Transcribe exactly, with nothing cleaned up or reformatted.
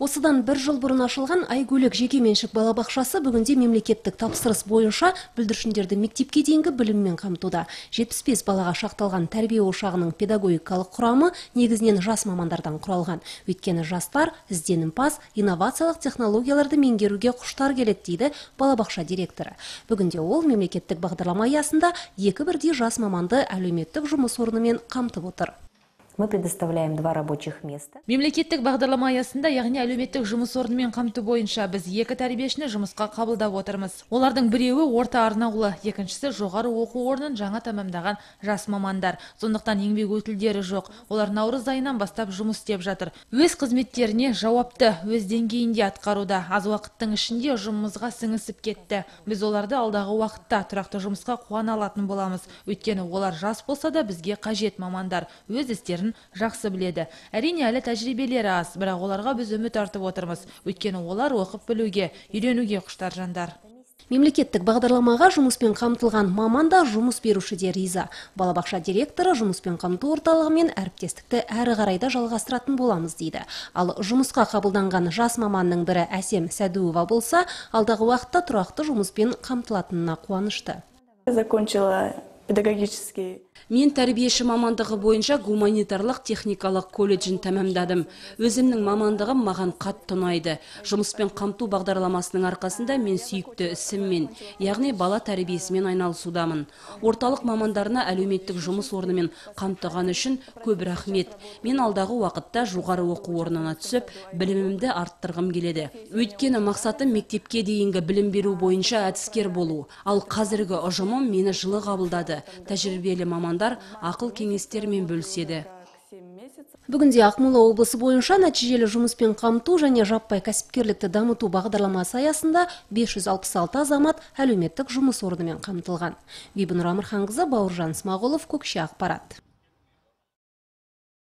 Осыдан бір жыл бұрын ашылған Айгөлік жекеменшік балабақшасы бүгінде мемлекеттік тапсырыс бойынша бүлдіршіндерді мектепке дейінгі біліммен қамтуда. жетпіс бес балаға шақталған тәрбие ошағының педагогикалық құрамы негізінен жас мамандардан құралған. Өйткені жастар ізденімпаз, инновациялық технологияларды меңгеруге құштар келеді дейді балабақша директоры. Бүгінде ол мемлекеттік бағдарлама аясында екі бірдей жас маманды әлеуметтік жұмыс орнымен қамтып отыр. Мы предоставляем два рабочих места. Мемлекеттік бағдарлама аясында, яғни әлеуметтік жұмыс орнымен қамту бойынша біз екі тәрбиешіні жұмысқа қабылдап отырмыз. Олардың біреуі орта арнаулы, екіншісі жоғары оқу орнын жаңа тамамдаған жас мамандар. Сондықтан еңбек өтілдері жоқ. Олар наурыз айынан бастап жұмыс істеп жатыр. Өз қызметтеріне жауапты, өз деңгейінде атқаруда. Аз уақыттың ішінде жұмысқа сіңісіп кетті. Біз оларды алдағы уақытта тұрақты жұмысқа қуана алатын боламыз. Өйткені олар жас болса да бізге қажет мамандар. Өз істерін жақсы біледі. Әрине әлі тәжірибелері аз, бірақ оларға біз үміт артып отырмыз. Өйткені олар оқып білуге, үйренуге құштар жандар. Мемлекеттік бағдарламаға жұмыспен қамтылған маманда жұмыс беруші де риза. Балабақша директоры жұмыспен қамту орталығымен әріптестікті әрі қарайда жалғастыратын боламыз дейді. Ал жұмысқа қабылданған жас маманның бірі Әсем Сәдуова болса, алдағы уақытта тұрақты жұмыспен қамтылатынына қуанышты. Закончила педагогический. Мен тәрбиеші мамандығы бойынша гуманитарлық техникалық колледжін тәмамдадым. Өзімнің мамандығым маған қатты ұнайды. Жұмыспен қамту бағдарламасының арқасында мен сүйікті ісіммен, яғни бала тәрбиесімен айналысудамын. Орталық мамандарына әлеуметтік жұмыс орнымен қамтыған үшін көп рахмет. Мен алдағы уақытта жоғары оқу орнына түсіп, білімімді арттырғым келеді. Өйткені мақсатым мектепке дейінгі білім беру бойынша әдіскер болу. Ал қазіргі ұжымым мені жылы қабылдады. Тәжірибелі мамандар ақыл кеңестермен бөліседі. Бүгінде Ақмола облысы бойынша нәтижелі жұмыспен қамту және жаппай кәсіпкерлікті дамыту бағдарламасы аясында бес жүз алпыс алты азамат әлеуметтік жұмыс орнымен қамтылған. Бибінұр Амырханқызы, Бауыржан Смағұлов, Көкше ақпарат.